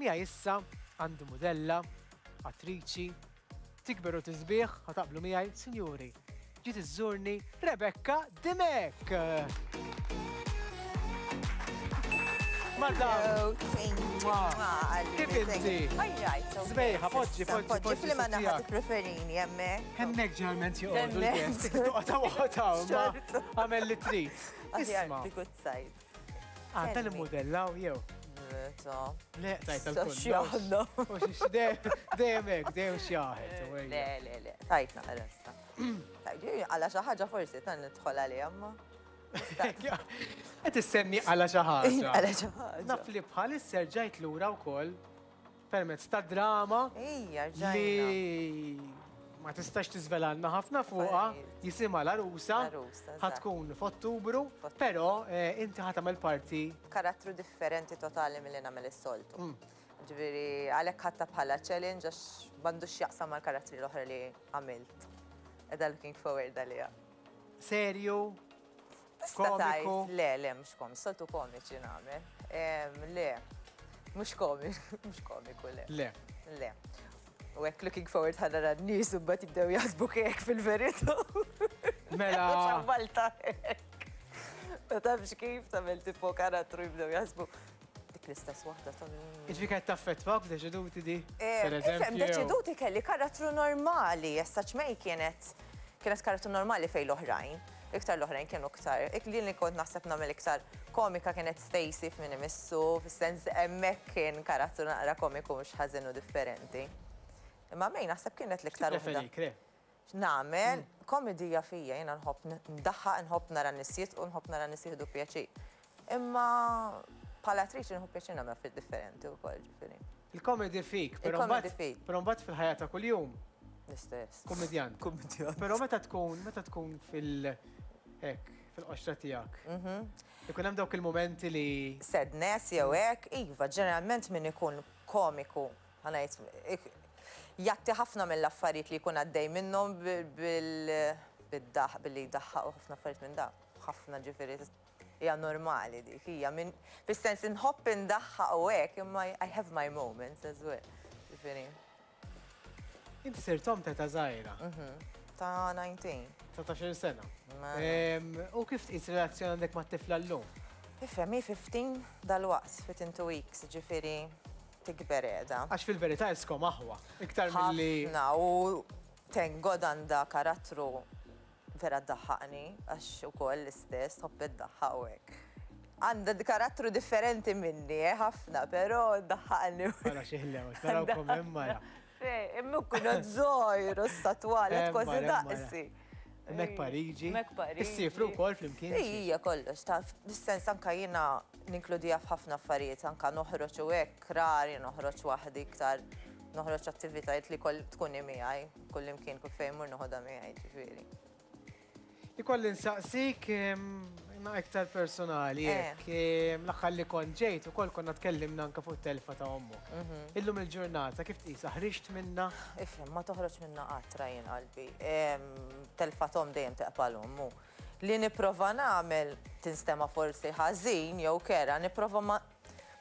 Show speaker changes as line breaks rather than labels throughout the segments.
Miegħi issa għandi mudella, attriċi, tikber u tisbieħ, ħa taqblu miegħi, sinjuri, ġiet iżżurni Rebecca Dimech! Madam! Kif inti? Sbejħa, poġġi, poġġi.
Poġġi fl-ma naħa tippreferini hemmhekk.
Hemmhekk ġeneralment joqogħdu l-guest. Toqgħod hawn, ma għamel li trid.
Isma' the good side.
Għadda li mudellaw jew? Le, tajt
tal-kull.
Dejjem hekk, dejjem xjaħet.
Le, le, le, tajt naqra issa. Għala xi ħaġa forsi tan nidħol għalija ma.
Qed issemmi għala xi ħaġa.
Għala xi ħaġa.
Naf li bħalissa rġajt lura wkoll permezz ta' drama
Ejja, rġajna.
li ma tistax tiżvelalna ħafna fuqha, jisimha L-Għarusa,
L-Għarusa,
ħa
eżatt.
tkun f'Ottubru, però eh, inti ħa tagħmel parti
Karattru differenti totali milli nagħmel is-soltu. Ġifieri għalhekk ħadtha bħala challenge għax m'għandux x'jaqsam mal-karattri l-oħra li għamilt. Qiegħda looking forward għaliha.
serju,
Tista'
Komiku.
tgħid, le, le, mhux komiku, soltu komiċi nagħmel. Le, mhux komiku, mhux komiku, le.
Le.
Le. U hekk looking forward ħa nara n-nies u mbagħad jibdew jaħsbu hekk fil-verità.
Mela.
Malta hekk. Ma tafx kif tagħmel tipo karattru jibdew jaħsbu dik l-istess waħda ta'
Iġvi kienet taffettwak f'Deċeduti di?
Eh,
Per
ifhem,
eżempju.
Deċeduti kelli karattru normali, essa ċmej kienet kienet karattru normali fejn l-oħrajn. Iktar l-oħrajn kienu iktar. Ik li li kont naħseb nagħmel iktar komika kienet Stacy f'Min Imissu, fis-sens hemmhekk kien karattru naqra komiku mhux ħażin u differenti. Imma May naħseb kienet l-iktar waħda.
Preferi, kre.
Nagħmel komedija fija, jiena nħobb ndaħħaq, nħobb nara nies jitqu, nħobb nara nies jieħdu pjaċir. Imma bħala attriċi nħobb pjaċir nagħmel affarijiet differenti wkoll, ġifieri.
Il-comedy fik, però
Il-comedy
mbagħad
fik.
però mbagħad fil-ħajja ta' kuljum
L-istess.
Kummedjant.
Kummedjant.
Però meta tkun, meta tkun fil hekk, fil-qoxra tiegħek.
Mhm.
Ikun hemm dawk il-momenti li
Sadness jew hekk, iva, ġeneralment min ikun komiku, ħa ngħid, jgħatti ħafna mill-affarijiet li jkun għaddej minnhom bil-daħ, billi jdaħħaq u ħafna affarijiet minn da. Ħafna ġifieri hija normali dik, hija minn fis-sens inħobb indaħħaq u hekk, imma I have my moments as well. Ġifieri.
Inti sirt omm ta' żgħira.
Mhm. Ta' 19.
19 sena.
Mela.
U kif tqis relazzjoni għandek mat-tifla llum?
Ifhem, hi 15 dalwaqt, within 2 weeks, ġifieri tikber qiegħda.
Għax fil-verità iskom aħwa, iktar milli.
Ħafna u thank God għandha karattru vera ddaħħaqni għax ukoll l-istess tħobb iddaħħaq u hekk. Għandha karattru differenti minni, eh, ħafna, però ddaħħaqni.
Mara xi ħlew, tarawkom hemm mara.
Fej, imma kuna żgħir u statwali kważi daqsi.
Hemmhekk Pariġi.
Hemmhekk Pariġi.
Issifru wkoll flimkien.
Ija kollox, ta' fis-sens anka jiena ninkludiha f'ħafna affarijiet, anka noħroġ u hekk rari noħroġ waħdi iktar noħroġ attivitajiet li koll tkun miegħi, kullimkien kull fejn mur noħodha miegħi ġifieri.
Ikolli nsaqsik imma iktar personali
Eh.
hekk. L-aħħar li kont ġejt ukoll konna tkellimna anke fuq telfa ta' ommok.
Mhm.
Illum il-ġurnata kif tqisha ħriġt minnha?
Ifhem, ma toħroġ minnha qatt Ryan qalbi. Telfa t'omm dejjem teqpa' l-omm u li nipprova nagħmel tinstema' forsi ħażin jew kerha, nipprova ma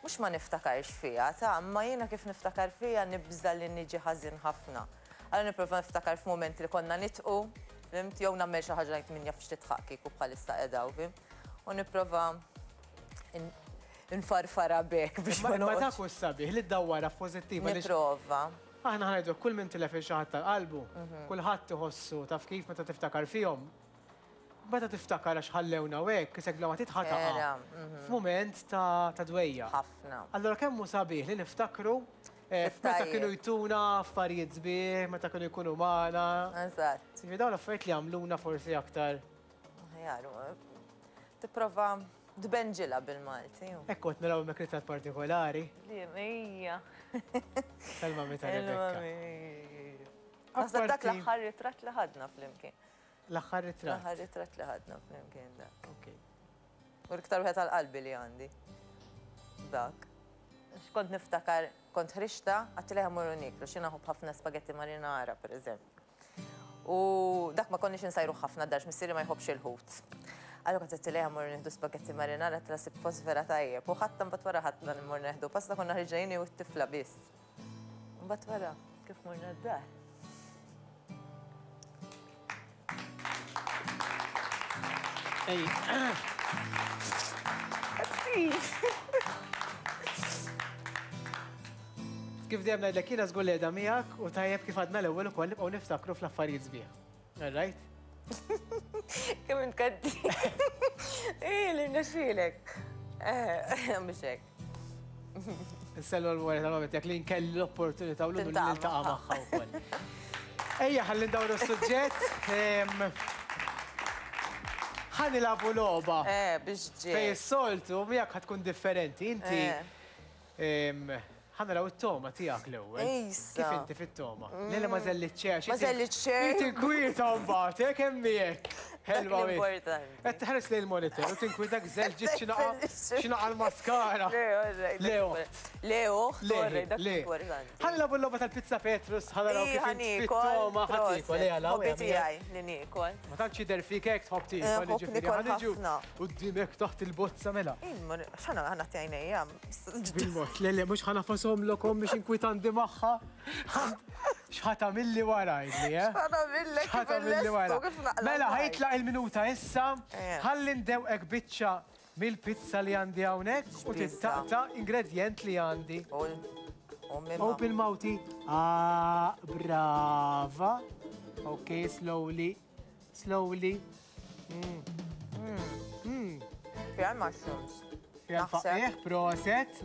Mhux ma niftakarx fiha, ta, imma jiena kif niftakar fiha nibża' li niġi ħażin ħafna. Allura nipprova niftakar f'mumenti li konna nidħqu, fhimt, jew nagħmel xi ħaġa ngħid min jaf x'tidħaq kieku bħalissa qiegħda hawn, fhimt? U nipprova nfarfarha b'hekk biex ma
Imma
noqgħodx.
dak hu s-sabiħ li ddawwarha f'pożittiv għaliex.
Nipprova.
Aħna ħa ngħidu kull min tilef lil xi ħadd tal-qalbu, kulħadd iħossu taf kif meta tiftakar fihom, Meta tiftakar għax ħallewna u hekk, isek bla ma trid ħa taqa' f'mument ta' dwejjaq.
Ħafna.
Allura kemm hu sabiħ li niftakru meta kienu jtuna affarijiet sbieħ, meta kienu jkunu magħna.
Eżatt.
Jiġifieri dawn l-affarijiet li jagħmluna forsi aktar.
Aħjar, tipprova tbenġilha bil-Malti.
Hekk kont naraw hemmhekk ritratt partikolari.
Hija.
Tal-mami ta' Rebecca.
Naħseb dak l-aħħar ritratt li ħadna flimkien.
L-aħħar ritratt.
L-aħħar ritratt li ħadna flimkien dak.
Ok.
U l-iktar wieħed għal qalbi li għandi. Dak. X'kont niftakar, kont ħriġta, għattilha mmorru nieklu, xi naħobb ħafna spagetti marinara, pereżempju. U dak ma konniex insajruh ħafna d-dar, missieri ma jħobbx il-ħut. Allura kont għedtilha ejja mmorru nieħdu spaghetti marinara għedtilha sibt post vera tajjeb. U ħadtha mbagħad wara ħadna mmorru nieħdu pasta konna ħriġna jien u t-tifla biss. Mbagħad wara kif morna d-dar.
Ej. Kif dejjem ngħidlek jiena żgur li qiegħda miegħek u tajjeb kif għadna l-ewwel ukoll nibqgħu niftakru fl-affarijiet sbieħ. All right?
Kemm int kaddi. Ej, li rnexxielek. Eh, mhux hekk.
Nsellu l-wara tal-moment jekk li nkelli l-opportunità u l-unur li niltaqa' magħha wkoll. Ejja ħalli ndawru s-suġġett. Ħa nilagħbu logħba.
Eh, biex ġej.
Fej is-soltu miegħek ħa tkun differenti. Inti eh. Ħa naraw it-togħma tiegħek l-ewwel.
Issa.
Kif inti fit-togħma? Le le ma żellit xejn għax
Ma żellit xejn.
Hi tinkwieta mbagħad, eh kemm hi hekk. Ħelwa
Dak l-importanti.
Qed tħares lejn il-monitor u tinkwieta żelġiet xi naqa' xi naqa' l-maskara.
Le, all right.
Le oħt.
Le oħt, all right, dak l-importanti.
Ħa nilagħbu l-logħba tal-pizza Petrus, ħa naraw kif inti fit-togħma ħa tiekol. Ejja,
Hobby tiegħi li niekol.
Ma tantx jidher fik hekk tħobb tiekol, jiġifieri ħa niġu quddiemek taħt il-bozza mela.
X'ħa nagħti għajnejja?
Bil-mod, le le, mhux ħa nafashomlokom biex inkwitanti magħha. X'ħa tagħmilli wara għidli, eh?
X'ħa tagħmillek
X'ħa tagħmilli wara?
kif naqla'
Mela, ħa jitlaq il-minuta issa,
Eh.
ħalli ndewqek biċċa mill-pizza li għandi hawnhekk u
X'pizza?
tittaqta' ingredjent li għandi.
Open
mouthi. Ah, brava. Ok, slowly. Slowly. Mm.
Mm. Fiha mushrooms.
Fiha l-faqqiegħ, proset.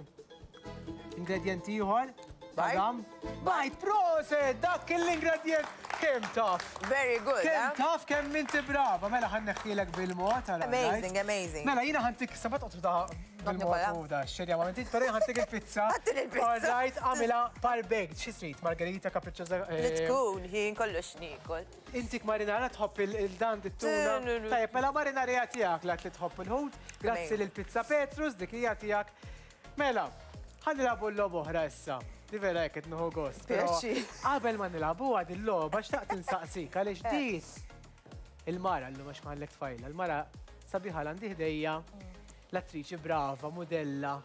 Ingredjent ieħor. Tadam. Bajd, proset! Dak l-ingredjent kemm taf.
Very good.
Kemm
eh?
taf kemm inti brava. Mela ħa nneħħielek bil-mod.
Amazing, amazing.
Mela jiena ħantik sa ma toqgħod ta' bil-mod u da xerja ma inti, però jien ħantik il-pizza.
Ħantik il-pizza.
All right, għamilha par baked. Xi trid? Margherita, capricciosa.
Li eh, tkun, ħin kollox niekol.
Intik marinara tħobb il-dan dit-tuna. Tajjeb, mela marinara hija tiegħek lat li tħobb il-ħut. Grazzi lil Pizza Petrus, dik hija tiegħek. Mela, ħa nilagħbu l-logħba oħra issa. Di vera hekk qed nieħu gost. Qabel ma nilagħbuha din logħba xtaqt insaqsik għaliex eh. di il-mara llum għax ma tfajla, il-mara sabiħa l-għandi ħdejja, l-attriċi brava, mudella,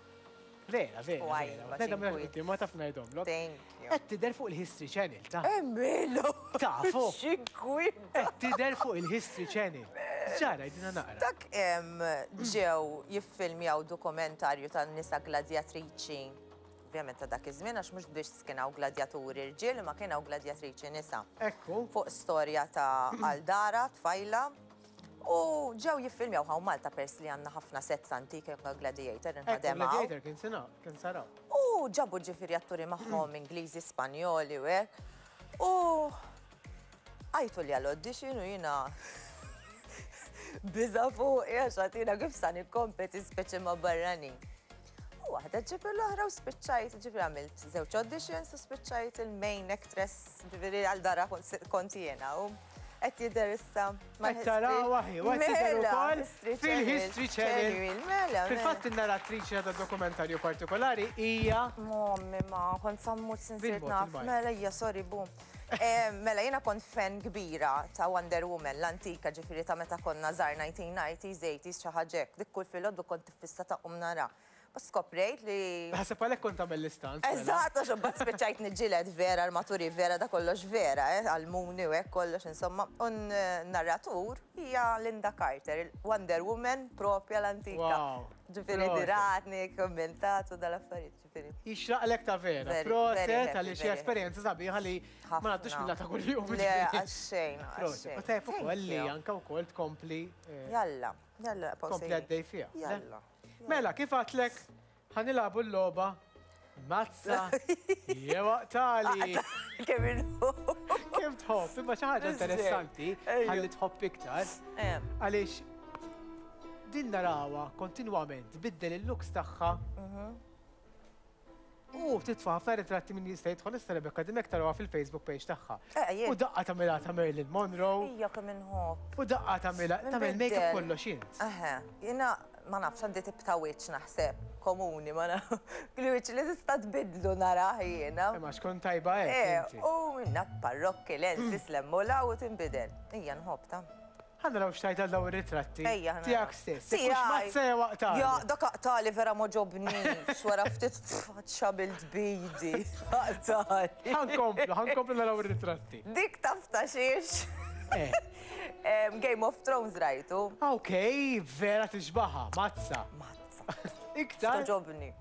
Vera, vera. vera. Nedha minn quddiem ma taf ngħidhomlok.
Thank you.
Qed tidher fuq il-History Channel ta'.
Emmilu!
Tafu.
X'inkwita.
Qed tidher fuq il-History Channel. Ġara, jdina naqra.
Dak ġew jiffilmjaw dokumentarju tan-nisa gladjatriċi ovvjament ta' dak iż-żmien għax mhux biss kien hawn gladjaturi rġiel imma kien hawn gladjatriċi nisa.
Ekku.
Fuq storja ta' Aldara, tfajla, U ġew jiffilmjaw hawn Malta peress li għandna ħafna sets antiki anke Gladiator inħadem hawn.
Gladiator kien sena, kien sar hawn.
U ġabu ġifieri atturi magħhom Ingliżi, Spanjoli u hekk. U għajtu li għal-audition u jiena biża' fuqi għax għatina kif sa nikkompeti speċi ma' barranin. U waħda ġib l-oħra u spiċċajt, ġifieri għamilt żewġ auditions u spiċċajt il-main actress, ġifieri għal dara kont jiena. U qed jidher issa.
Qed taraw aħi, u qed tidher
Mela,
ukoll
History
fil-History Channel.
Mela, mela.
Fil-fatt in-narratriċi ta' dokumentarju partikolari hija
Mommi ma, kont sammut sinsirt
Bil-mod,
naf.
il-bajt.
Mela hija, sorry, bu. Eh, Mela jiena kont fan kbira ta' Wonder Woman, l-antika ġifieri ta' meta konna żgħar 1990s, 80s, xi ħaġa hekk. Dik kull filgħodu kont iffissa ta' qum nara. U skoprejt li.
Naħseb għalhekk kont tagħmel l-istunts. Mela.
Eżatt, għax imbagħad spiċċajt niġġieled vera, armaturi vera, da kollox vera, eh, għall-muni u hekk kollox insomma. U n-narratur hija Linda Carter, il-Wonder Woman propja l-antika.
Wow.
Ġifieri diratni, kommentat u dal-affarijiet, ġifieri.
Jixraqlek ta' vera. Proset għaliex hija esperjenza sabiħa li ma ngħaddux minnha ta' kuljum.
Le, għax-xejn, għax-xejn.
U tajjeb ukoll li anke wkoll tkompli. Eh,
Jalla, jalla,
Tkompli għaddej fiha.
Jalla.
Mela, kif għadtlek, ħa nilagħbu l-logħba mazza jew aqtali.
Kemm inhu.
Kemm tħobb, imma xi ħaġa interessanti ħalli tħobb iktar.
Eh.
Għaliex din narawha kontinwament tbiddel il-looks tagħha.
Mhm.
U titfa' ħafna ritratti min jista' jidħol issa Rebecca Dimech tarawha fil-Facebook page tagħha.
Eh, jien.
U daqqa tagħmilha ta' Marilyn Monroe.
Ija kemm inħobb.
U daqqa tagħmilha tagħmel make-up kollox int.
Eħe, jiena ma nafx għandi tip ta' wiċċ naħseb komuni ma nafx. Li wiċċ li tista' tbiddlu narah jiena.
Imma xkun tajba hekk
Eh,
inti.
u minna parrokki lenses lemmu law u tinbidel. Ija nħobb ta'.
Ħa naraw x'tgħid għal dawn ir-ritratti.
Ejja, ħa naraw.
Tiegħek stess. Jekk hux
Tiegħi.
mazza jew aqtali.
Ja, dak aqtali vera m'għoġobnix. Wara ftit ċabilt b'idi. Aqtali.
Ħa nkomplu, ħa nkomplu naraw ir-ritratti.
Dik taf ta' xiex.
Eh.
Game of Thrones rajtu.
Ok, vera tixbaha, mazza.
Mazza.
Iktar.
Toġobni.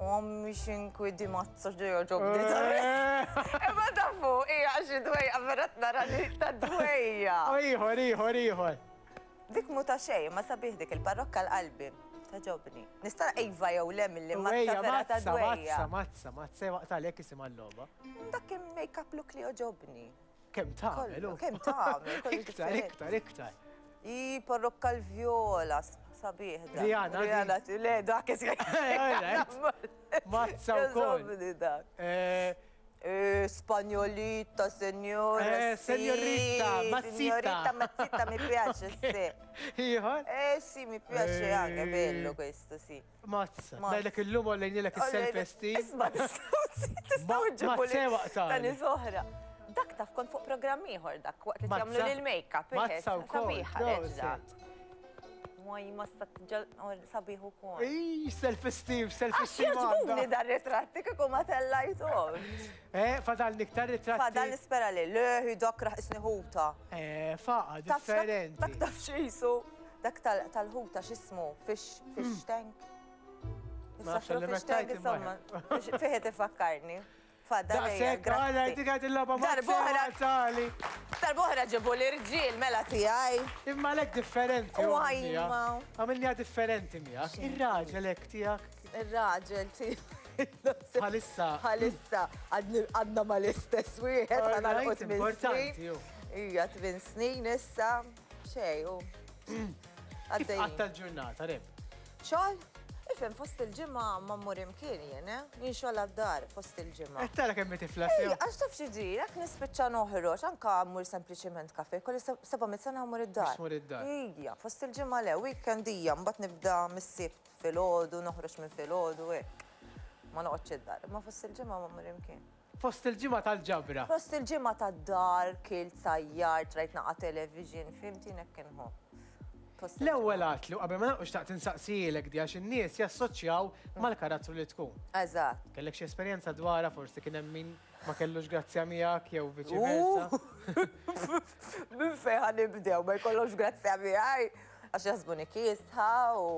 Ommi xinkwi di mazza ġejo ġobni ta' Imma tafu, hija xi dwejja vera nara li ta' dwejja.
Ieħor, ieħor, ieħor.
Dik mu ta' xejn, ma sabiħ dik il-parrokka l-qalbi. Ta' ġobni. Nista' iva jew le milli mazza vera ta' dwejja.
Mazza, mazza, mazza, waqt għalhekk isimha l-logħba.
Dak kien make-up look li joġobni.
Kemm tagħmel?
Kemm tagħmel?
Iktar, iktar, iktar.
I parrokka l-vjola, sabiħ dak.
Rihanna.
Rihanna, le, dak is.
Mazza wkoll.
Dak. Spagnolita, signora.
Signorita, mazzita.
Signorita, mazzita, mi piace, sì.
Ieħor?
Eh sì, mi piace anche, bello questo, sì.
Mazza. Dajlek illum għollejnilek is-self-esteem.
Isma, tistgħu ġibu li. Ta' nies oħra. Dak taf kont fuq programm ieħor dak waqt li jagħmlu lil make-up.
Mazza wkoll.
Sabiħa reġa. Waj, ma sabiħ ukoll.
Ej, self-esteem, self-esteem.
Għax jogħġbuni dar ritratti kieku ma tellajthom.
Eh, fadal niktar ritratti.
Fadal nispera li leħi dak raħ isni ħuta.
Eh, faqa, differenti.
Dak taf x'isu. Dak tal-ħuta x'ismu, fish, fish tank.
Ma nafx li
Fish tank, insomma, fih tifakkarni. Fadal.
Daqshekk, għala, dik għad il-logħba
Darbohra.
Tali.
Darbohra ġibu l-irġiel mela tiegħi.
Imma lek differenti.
U għajma.
Għamilniha differenti miegħek. Ir-raġel hekk tiegħek.
Ir-raġel tiegħi.
Bħalissa.
Bħalissa, għadna mal-istess wieħed, għadna l-qot minn snin. Ija, tmien snin issa, xej, u.
Kif għatta l-ġurnata, Reb?
Xogħol? Ifhem, fost il-ġimgħa ma mmur imkien jien, eh? Jien xogħol għad-dar fost il-ġimgħa.
Qed tara kemm hi tifla
sew. Għax taf xi ġri, jekk nispiċċa noħroġ, anke mmur sempliċiment kafe, kolli 700 sena mmur id-dar.
Tmur id-dar.
Ija, fost il-ġimgħa le, weekend hija, mbagħad nibda mis-Sibt filgħodu, noħroġ minn filgħodu hekk. Ma noqgħodx id-dar, imma fost il-ġimgħa ma mmur imkien.
Fost il-ġimgħa tal-ġabra.
Fost il-ġimgħa tad-dar, kilt, sajjart, rajt naqa' television, fhimt jien hekk inħobb.
L-ewwel għatlu qabel ma nagħlqu xtaqt insaqsielek di għax in-nies jassoċjaw mal-karattru li tkun.
Eżatt.
Kellek xi esperjenza dwarha forsi kien hemm min ma kellux grazzja miegħek jew viċi versa.
Minn fejn ħa nibdew ma jkollhomx grazzja miegħi għax jaħsbuni kiesħa u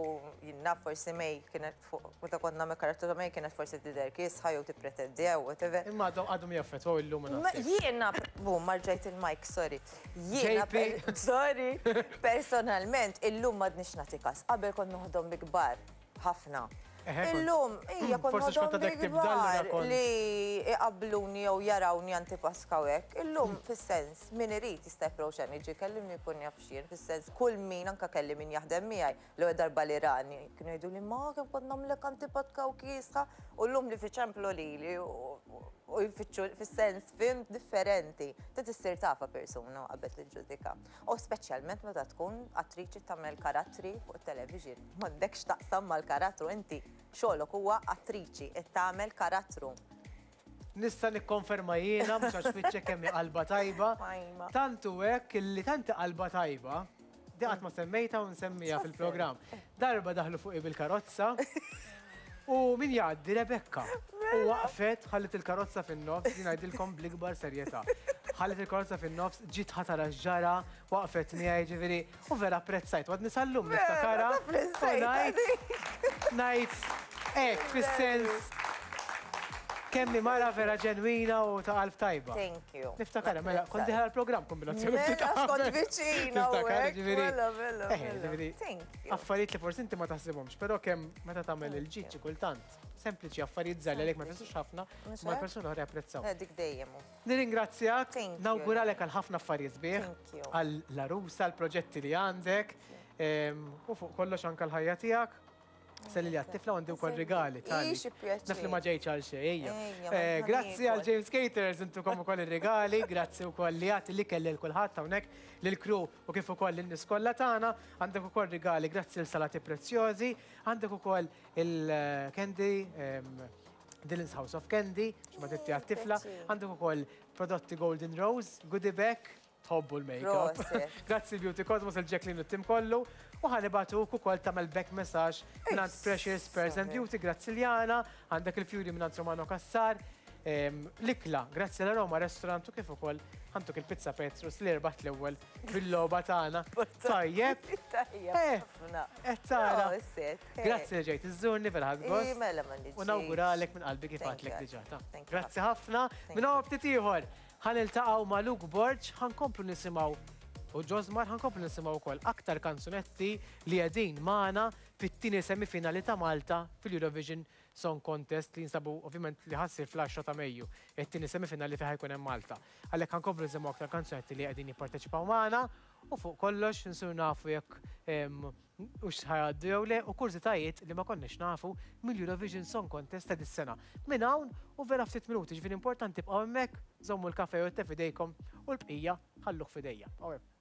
jien naf forsi May kienet fuq meta kont nagħmel karattru ta' May kienet forsi tidher kiesħa jew tippretendi jew whatever.
Imma għadhom jaffettwaw illum ma nafx.
Jiena, bum, marġajt il-mic, sorry. Jiena, sorry, personalment, illum m'għadnix nagħti kas. Qabel kont noħodhom bi kbar, ħafna. Illum, hija kont noħodhom bi kbar li iqabbluni jew jarawni antipaska u hekk. Illum, fis-sens, min irid jista' japproċċjani, jiġi jkellimni jkun jaf x'jien, fis-sens kull min anke kelli min jaħdem miegħi l-ewwel darba li rani, kienu jgħiduli ma kemm kont nagħmlek antipatka u kiesħa u llum li fiċemplu lili u jfittxu fis-sens fhimt differenti. Trid issir tafha persuna qabel tiġġudika. U speċjalment meta tkun attriċi tagħmel karattri fuq it-television. M'għandekx taqsam mal-karattru, inti xogħlok huwa attriċi qed tagħmel karattru.
Nista' nikkonferma jiena mhux għax fittxek kemm hi qalba tajba. Tant hu hekk illi tant hi qalba tajba, di qatt ma semmejtha u nsemmiha fil-programm. Darba daħlu fuqi bil-karozza u min jgħaddi Rebecca. U waqfet, ħalliet il-karozza fin-nofs, jien ngħidilkom bl-ikbar serjetà. Ħalliet il-karozza fin-nofs, ġiet ħa tara x'ġara, waqfet miegħi ġifieri, u vera apprezzajt, u għadni sal-lum niftakarha. U ngħid, ngħid hekk fis-sens kemm hi mara vera ġenwina u ta' qalb tajba.
Thank you.
Niftakarha, mela, kont dieħla l-programm kombinazzjoni ftit
Mela,
qabel.
kont viċina u
Tiftakar,
hekk,
ġifieri.
mela, mela,
Eh,
mela.
ġifieri,
Thank you.
Affarijiet li forsi inti ma taħsibhomx, però kemm meta tagħmel il-ġid xi kultant, sempliċi affarijiet żgħar li għalek ma jfissrux ħafna,
Mhux
ma
hekk?
l-persuna oħra japprezzaw.
Eh, dik dejjem hu.
Nirringrazzjak,
Thank you.
nawguralek għal ħafna affarijiet sbieħ,
Thank you.
għal l-għarusa, għall-proġetti li għandek, u fuq kollox anke l-ħajja tiegħek. Selli li għat-tifla għandi wkoll rigali tali.
Ixi pjaċir.
Naf li ma ġejtx għal xejn, ejja.
Ejja,
Eh,
ma
Grazzi għal
ħanieħu.
James Caterers intukom ukoll ir-rigali, grazzi wkoll li għati li kelli l kulħadd hawnhekk lill-crew u kif ukoll lin-nies kollha tagħna, għandek ukoll rigali grazzi l Salati Prezzjosi, għandek ukoll il-candy, Dylan's House of Candy, x'ma titti għat-tifla, għandek ukoll prodotti Golden Rose, goodie bag. Tħobbu l-makeup. Grazzi Beauty Cosmos, il-Jacqueline u t-tim kollu. U ħa nibagħtuk ukoll tagħmel back massage mingħand Precious Pearls and Beauty, grazzi Liana, għandek il-fjuri mingħand Romano Cassar. L-ikla, grazzi la Roma Restaurant u kif ukoll ħantuk il-pizza Petrus li rbaħt l-ewwel bil-logħba tagħna. Tajjeb.
Tajjeb.
Eh, qed tara. Grazzi li ġejt iżżurni vera ħadt gost.
Mela ma
U nawguralek minn qalbi kif għadlek diġà ta. Grazzi ħafna. Minn hawn ftit ieħor ħa niltaqgħu ma' Luke Borg, ħa nkomplu nisimgħu u Josmar ħa nkomplu nisimgħu wkoll aktar kanzunetti li qegħdin magħna fit-tieni semifinali ta' Malta fil-Eurovision Song Contest li jinsabu ovvjament li ħa ssir fl-10 ta' Mejju, it-tieni semifinali fejn ħa jkun hemm Malta. Għalhekk ħa nkomplu nisimgħu aktar kanzunetti li qegħdin jipparteċipaw magħna u fuq kollox nsiru nafu jekk hux ħa jgħaddu jew le u kurżitajiet li ma konniex nafu mill-Eurovision Song Contest ta' dis-sena. Minn hawn u vera ftit minuti, ġifieri importanti ibqgħu hemmhekk, żommu l-kafè jew it-te f'idejkom u l-bqija ħalluh f'idejja. Bqgħu hemm.